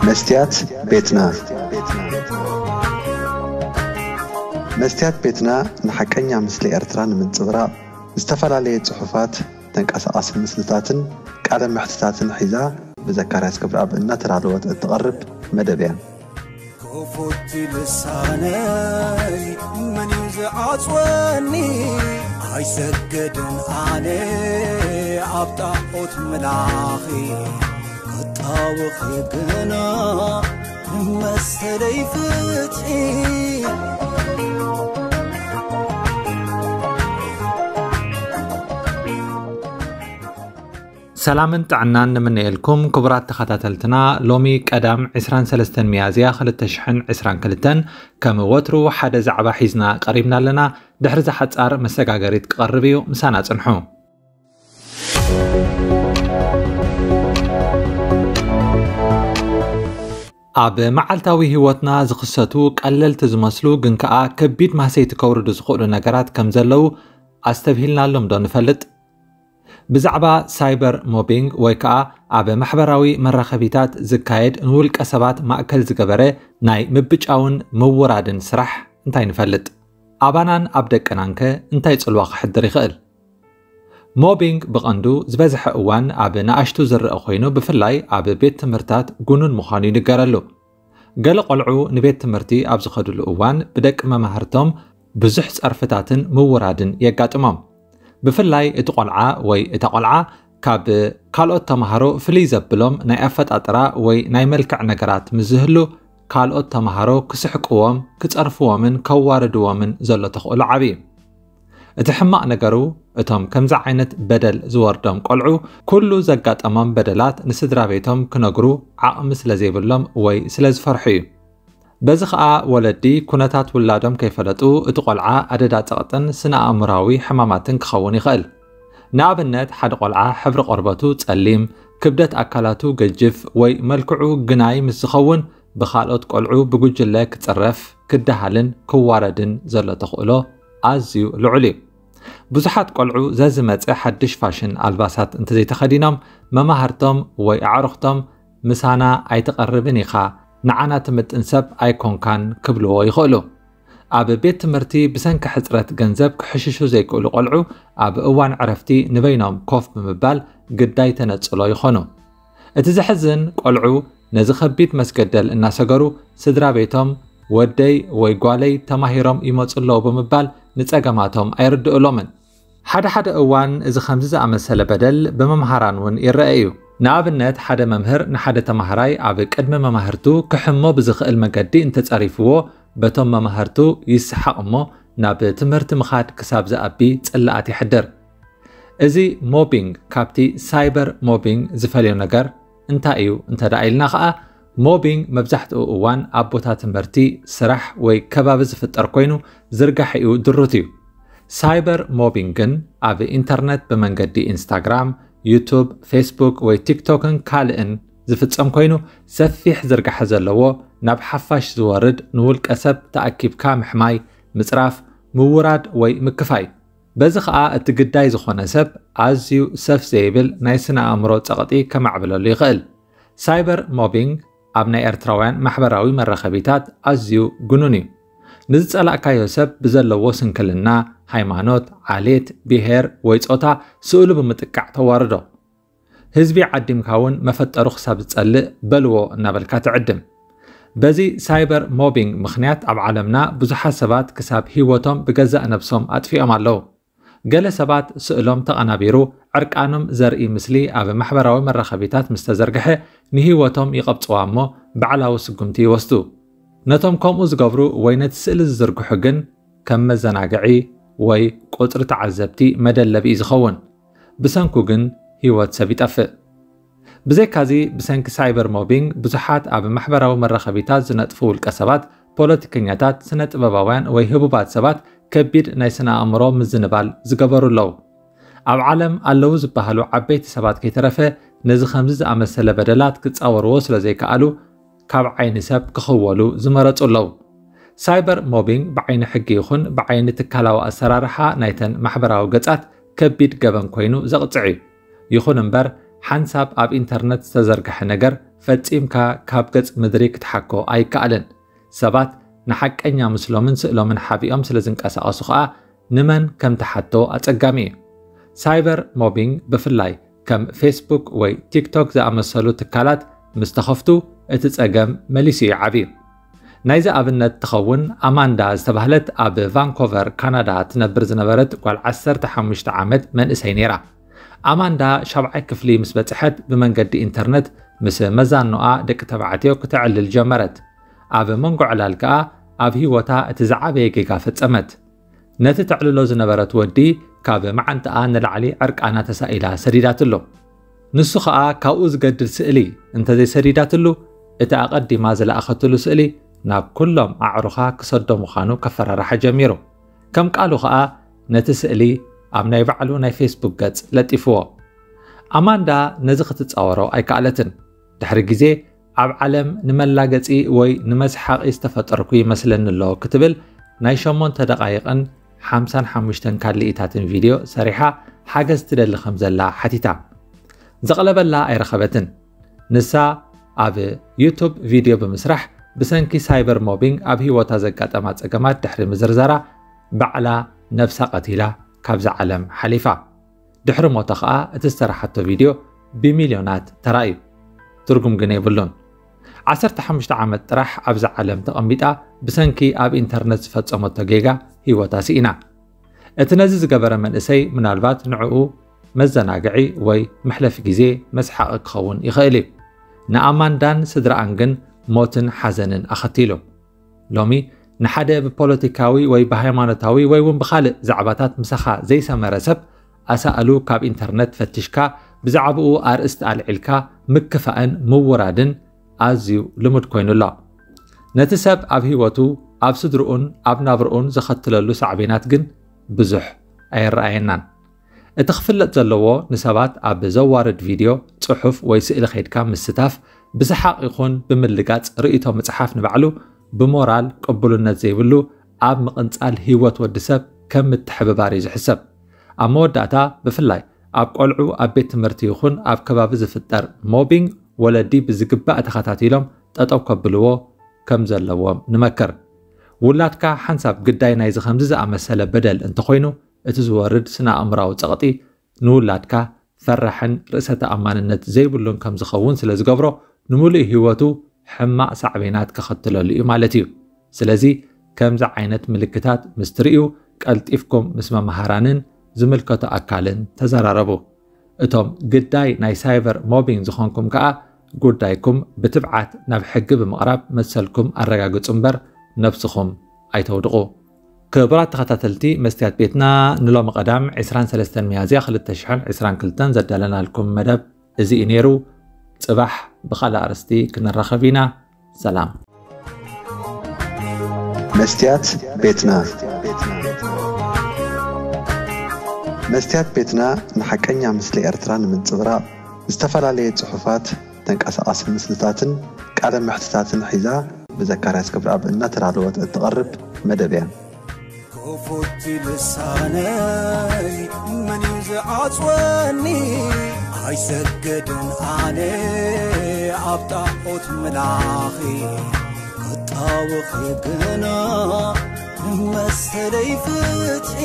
መስትያት ቤትና። መስትያት ቤትና ንሓቀኛ ምስሊ ኤርትራ ንምንጽብራቕ ዝተፈላለየ ጽሑፋት፣ ተንቀሳቓሲ ምስልታትን ቃለ መሕትታትን ሒዛ ብዘካርያስ ገብረኣብ እናተዳለወት እትቐርብ መደብ እያ። ክፉት ልሳነይ መን እዩ ዝዓጽወኒ? ኣይሰግድን ኣነ ኣብ ጣዖት ምላኺ፣ ክጣወኺ ግና መሰለይ ፍትሒ። ሰላምን ጥዕናን ንምነየልኩም ክቡራት ተኸታተልትና። ሎሚ ቀዳም ዕስራን ሰለስተን ሚያዝያ ክልተ ሽሕን ዕስራን ክልተን ከም ወትሩ ሓደ ዛዕባ ሒዝና ቀሪብና ኣለና። ድሕሪ እዛ ሓጻር መሰጋገሪት ክቐርብ እዩ፣ ምሳና ጽንሑ። ኣብ መዓልታዊ ህይወትና ዝኽሰቱ ቀለልቲ ዝመስሉ ግን ከኣ ከቢድ ማህሰይቲ ከውርዱ ዝኽእሉ ነገራት ከም ዘለዉ ኣስተብሂልናሎም ዶ ንፈልጥ? ብዛዕባ ሳይበር ሞቢንግ ወይ ከኣ ኣብ ማሕበራዊ መራኸቢታት ዝካየድ ንውልቀ ሰባት ማእከል ዝገበረ ናይ ምብጫውን ምውራድን ስራሕ እንታይ ንፈልጥ? ኣባናን ኣብ ደቅናንከ እንታይ ጽልዋ ክሕድር ይኽእል? ሞቢንግ ብቐንዱ ዝበዝሐ እዋን ኣብ ንኣሽቱ ዝረኣ ኮይኑ፣ ብፍላይ ኣብ ቤት ትምህርታት ጉኑን ምዃኑ ይንገረሉ። ገለ ቆልዑ ንቤት ትምህርቲ ኣብ ዝኸድሉ እዋን ብደቂ መማህርቶም ብዙሕ ጸርፍታትን ምውራድን የጋጥሞም። ብፍላይ እቲ ቆልዓ ወይ እታ ቆልዓ ካብ ካልኦት ተማሃሮ ፍልይ ዘብሎም ናይ ኣፈጣጥራ ወይ ናይ መልክዕ ነገራት ምስ ዝህሉ፣ ካልኦት ተማሃሮ ክስሕቅዎም፣ ክጸርፍዎምን ከዋርድዎምን ዘሎ ተኽእሎ ዓቢ እዩ። እቲ ሕማቕ ነገሩ፣ እቶም ከምዚ ዓይነት በደል ዝወርዶም ቆልዑ፣ ኩሉ ዘጋጠሞም በደላት ንስድራ ቤቶም ክነግሩ ዓቕሚ ስለ ዘይብሎም ወይ ስለ ዝፈርሑ እዩ። በዚ ኸኣ ወለዲ ኩነታት ውላዶም ከይፈለጡ፣ እቲ ቆልዓ ኣደዳ ጸቕጥን ስነ ኣእምሮኣዊ ሕማማትን ክኸውን ይኽእል። ንኣብነት፣ ሓደ ቆልዓ ሕብሪ ቆርበቱ ጸሊም፣ ክብደት ኣካላቱ ገጅፍ ወይ መልክዑ ግናይ ምስ ዝኸውን፣ ብኻልኦት ቆልዑ ብጉጅለ ክጽረፍ፣ ክደሃልን ክዋረድን ዘሎ ተኽእሎ ኣዝዩ ልዑል እዩ። ብዙሓት ቆልዑ ዘዝመጸ ሓድሽ ፋሽን ኣልባሳት እንተዘይተኸዲኖም፣ መማህርቶም ወይ ኣዕሩኽቶም "ምሳና ኣይትቐርብን ኢኻ፣ ንዓና ትምጥን ሰብ ኣይኮንካን" ክብልዎ ይኽእሉ። ኣብ ቤት ትምህርቲ ብሰንኪ ሕጽረት ገንዘብ ክሕሽሹ ዘይክእሉ ቆልዑ፣ ኣብ እዋን ዕረፍቲ ንበይኖም ኮፍ ብምባል ግዳይ ተነጽሎ ይኾኑ። እቲ ዘሕዝን፣ ቆልዑ ነዚ ከቢድ መስገደል እናሰገሩ፣ ስድራ ቤቶም "ወደይ ወይ ጓለይ ተማሂሮም ይመጹ ኣለዉ" ብምባል ንጸገማቶም ኣይርድእሎምን። ሓደ ሓደ እዋን እዚ ከምዚ ዝኣመሰለ በደል ብመምሃራን እውን ይረአ እዩ። ንኣብነት፣ ሓደ መምህር ንሓደ ተማሃራይ ኣብ ቅድሚ መማህርቱ ክሕሞ ብዝኽእል መገዲ እንተጸሪፍዎ፣ በቶም መማህርቱ ይሰሓቕ እሞ ናብ ትምህርቲ ምኻድ ክሳብ ዝኣቢ ጽላኣት የሕድር። እዚ ሞቢንግ ካብቲ ሳይበር ሞቢንግ ዝፈልዮ ነገር እንታይ እዩ እንተ ደኣ ኢልና ኸኣ፣ ሞቢንግ መብዛሕትኡ እዋን ኣብ ቦታ ትምህርቲ፣ ስራሕ ወይ ከባቢ ዝፍጠር ኮይኑ ዝርጋሕኡ ድሩት እዩ። ሳይበር ሞቢንግ ግን ኣብ ኢንተርነት ብመንገዲ ኢንስታግራም፣ ዩቱብ፣ ፌስቡክ ወይ ቲክቶክን ካልእን ዝፍጸም ኮይኑ፣ ሰፊሕ ዝርጋሐ ዘለዎ፣ ናብ ሓፋሽ ዝወርድ፣ ንውልቀ ሰብ ተኣኪብካ ምሕማይ፣ ምጽራፍ፣ ምውራድ ወይ ምክፋይ። በዚ ኸኣ እቲ ግዳይ ዝኾነ ሰብ ኣዝዩ ሰፍ ዘይብል ናይ ስነ ኣእምሮ ጸቕጢ ከማዕብለሉ ይኽእል። ሳይበር ሞቢንግ ኣብ ናይ ኤርትራውያን ማሕበራዊ መራኸቢታት ኣዝዩ ግኑን እዩ። ንዝጸላእካዮ ሰብ ብዘለዎ ስንክልና፣ ሃይማኖት፣ ዓሌት፣ ብሄር ወይ ጾታ ስእሉ ብምጥቃዕ ተዋርዶ። ህዝቢ ዓዲምካ እውን መፈጠሩ ክሳብ ዝጸልእ በልዎ እናበልካ ትዕድም። በዚ ሳይበር ሞቢንግ ምኽንያት ኣብ ዓለምና ብዙሓት ሰባት ክሳብ ህይወቶም ብገዛእ ነብሶም ኣጥፊኦም ኣለዉ። ገለ ሰባት ስእሎም ተቐናቢሩ ዕርቃኖም ዘርኢ ምስሊ ኣብ ማሕበራዊ መራኸቢታት ምስ ተዘርግሐ፣ ንህይወቶም ይቐብጽዋ እሞ ባዕላዊ ስጉምቲ ይወስዱ። ነቶም ከምኡ ዝገብሩ ወይ ነቲ ስእሊ ዝዝርግሑ ግን ከም መዘናግዒ ወይ ቁጽሪ ተዓዘብቲ መደለቢ እዩ ዝኸውን። ብሰንኩ ግን ህይወት ሰብ ይጠፍእ። ብዘይካዚ፣ ብሰንኪ ሳይበር ሞቢንግ ብዙሓት ኣብ ማሕበራዊ መራኸቢታት ዝነጥፉ ውልቀ ሰባት፣ ፖለቲከኛታት፣ ስነ ጥበባውያን ወይ ህቡባት ሰባት ከቢድ ናይ ስነ ኣእምሮ ምዝንባል ዝገበሩ ኣለዉ። ኣብ ዓለም ኣለዉ ዝበሃሉ ዓበይቲ ሰባት ከይተረፈ ነዚ ከምዚ ዝኣመሰለ በደላት ክጻወርዎ ስለ ዘይከኣሉ፣ ካብ ዓይኒ ሰብ ክኽወሉ ዝመረጹ ኣለዉ። ሳይበር ሞቢንግ ብዓይኒ ሕጊ ይኹን ብዓይኒ ትካላዊ ኣሰራርሓ ናይተን ማሕበራዊ ገጻት ከቢድ ገበን ኮይኑ ዘቕጽዕ እዩ። ይኹን እምበር፣ ሓንሳብ ኣብ ኢንተርነት ዝተዘርግሐ ነገር ፈጺምካ ካብ ገጽ ምድሪ ክትሓኮ ኣይከኣልን። ሰባት ንሓቀኛ ምስሎምን ስእሎምን ሓቢኦም ስለ ዝንቀሳቐሱ ኸኣ ንመን ከም ትሓቶ ኣጸጋሚ እዩ። ሳይበር ሞቢንግ ብፍላይ ከም ፌስቡክ ወይ ቲክቶክ ዝኣመሰሉ ትካላት ምስ ተኸፍቱ እቲ ጸገም መሊሱ ይዓቢ። ናይዚ ኣብነት ትኸውን ኣማንዳ ዝተባህለት ኣብ ቫንኮቨር ካናዳ ትነብር ዝነበረት ጓል ዓሰርተ ሓሙሽተ ዓመት መንእሰይ ነይራ። ኣማንዳ ሻብዓይ ክፍሊ ምስ በጽሐት ብመንገዲ ኢንተርነት ምስ መዛኖኣ ደቂ ተባዕትዮ ክተዕልል ጀመረት። ኣብ መንጎ ዕላል ከኣ ኣብ ህይወታ እቲ ዝዓበየ ጌጋ ፈጸመት። ነቲ ተዕልሎ ዝነበረት ወዲ ካብ መዓንጣኣ ንላዕሊ ዕርቃና ተሳኢላ ሰዲዳትሉ። ንሱ ኸኣ ካብኡ ዝገድድ ስእሊ እንተዘይሰዲዳትሉ፣ እቲ ኣቐዲማ ዝለኣኸትሉ ስእሊ ናብ ኩሎም ኣዕሩኻ ክሰዶ ምዃኑ ከፈራርሓ ጀሚሩ። ከም ቃሉ ኸኣ ነቲ ስእሊ ኣብ ናይ ባዕሉ ናይ ፌስቡክ ገጽ ለጢፍዎ። ኣማንዳ ነዚ ክትጻወሮ ኣይከኣለትን። ድሕሪ ግዜ ኣብ ዓለም ንመላገጺ ወይ ንመስሓቒ ዝተፈጠርኩ ይመስለኒ ኣሎ ክትብል ናይ ሸሞንተ ደቓይቕን ሓምሳን ሓሙሽተን ካልኢታትን ቪድዮ ሰሪሓ ሓገዝ ትደሊ ከም ዘላ ሓቲታ። ዘቕለበላ ኣይረኸበትን። ንሳ ኣብ ዩቱብ ቪድዮ ብምስራሕ ብሰንኪ ሳይበር ሞቢንግ ኣብ ህይወታ ዘጋጠማ ጸገማት ድሕሪ ምዝርዛራ ባዕላ ነብሳ ቀቲላ ካብዛ ዓለም ሓሊፋ። ድሕሪ ሞታ ኸኣ እቲ ዝሰራሓቶ ቪድዮ ብሚልዮናት ተራእዩ። ትርጉም ግን የብሉን። ዓሰርተ ሓሙሽተ ዓመት ጥራሕ ኣብዛ ዓለም ተቐሚጣ ብሰንኪ ኣብ ኢንተርነት ዝፈጸመቶ ጌጋ ህይወታ ስኢና። እቲ ነዚ ዝገበረ መንእሰይ ምናልባት ንዕኡ መዘናግዒ ወይ መሕለፊ ግዜ መስሓቒ ክኸውን ይኽእል እዩ። ንኣማንዳን ስድራኣን ግን ሞትን ሓዘንን ኣኸቲሉ። ሎሚ ንሓደ ብፖለቲካዊ ወይ ብሃይማኖታዊ ወይ እውን ብኻልእ ዛዕባታት ምሳኻ ዘይሰመረ ሰብ ኣሳእሉ ካብ ኢንተርነት ፈቲሽካ ብዛዕባኡ ኣርእስቲ ኣልዒልካ ምክፋእን ምውራድን ኣዝዩ ልሙድ ኮይኑ ኣሎ። ነቲ ሰብ ኣብ ህይወቱ፣ ኣብ ስድርኡን ኣብ ናብርኡን ዘኸትለሉ ሳዕቤናት ግን ብዙሕ ኣየረኣየናን። እቲ ክፍለጥ ዘለዎ ንሰባት ኣብ ዘዋርድ ቪድዮ፣ ጽሑፍ ወይ ስእሊ ከይድካ ምስታፍ፣ ብሰሓቕ ይኹን ብምልጋጽ ርእይቶ ምጽሓፍ ንባዕሉ ብሞራል ቅቡልነት ዘይብሉ ኣብ ምቕንጻል ህይወት ወዲ ሰብ ከም ምትሕብባር እዩ ዝሕሰብ። ኣብ መወዳእታ ብፍላይ ኣብ ቆልዑ ኣብ ቤት ትምህርቲ ይኹን ኣብ ከባቢ ዝፍጠር ሞቢንግ ወለዲ ብዝግባእ ተኸታቲሎም ጠጠው ከብልዎ ከም ዘለዎም ንመክር። ውላድካ ሓንሳብ ግዳይ ናይዚ ከምዚ ዝኣመሰለ በደል እንተኾይኑ እቲ ዝወርድ ስነ ኣእምራዊ ጸቕጢ ንውላድካ ፈራሕን ርእሰ ተኣማንነት ዘይብሉን ከም ዝኸውን ስለ ዝገብሮ ንምሉእ ህይወቱ ሕማቕ ሳዕቤናት ከኸትለሉ እዩ ማለት እዩ። ስለዚ ከምዚ ዓይነት ምልክታት ምስ ትርእዩ ቀልጢፍኩም ምስ መምሃራንን ዝምልከቶ ኣካልን ተዘራረቡ። እቶም ግዳይ ናይ ሳይበር ሞቢንግ ዝኾንኩም ከኣ ጉዳይኩም ብትብዓት ናብ ሕጊ ብምቕራብ መሰልኩም ኣረጋግጹ እምበር ነብስኹም ኣይተውድቑ። ክቡራት ተኸታተልቲ መስትያት ቤትና ንሎሚ ቀዳም ዕስራን ሰለስተን ሚያዝያ ክልተ ሽሕን ዕስራን ክልተን ዘዳለናልኩም መደብ እዚ እዩ ነይሩ። ጽባሕ ብኻልእ ኣርእስቲ ክንራኸብ ኢና። ሰላም። መስትያት ቤትና። መስትያት ቤትና ንሓቀኛ ምስሊ ኤርትራ ንምንጽብራቕ ዝተፈላለየ ጽሑፋት፣ ተንቀሳቓሲ ምስልታትን ቃለ መሕትታትን ሒዛ ብዘካርያስ ገብረኣብ እናተዳለወት እትቐርብ መደብ እያ። ክፉት ልሳነይ መን እዩ ዝዓጽወኒ? ኣይሰግድን ኣነ ኣብ ጣዖት ምላኺ፣ ክጣወኺ ግና መሰለይ ፍትሒ።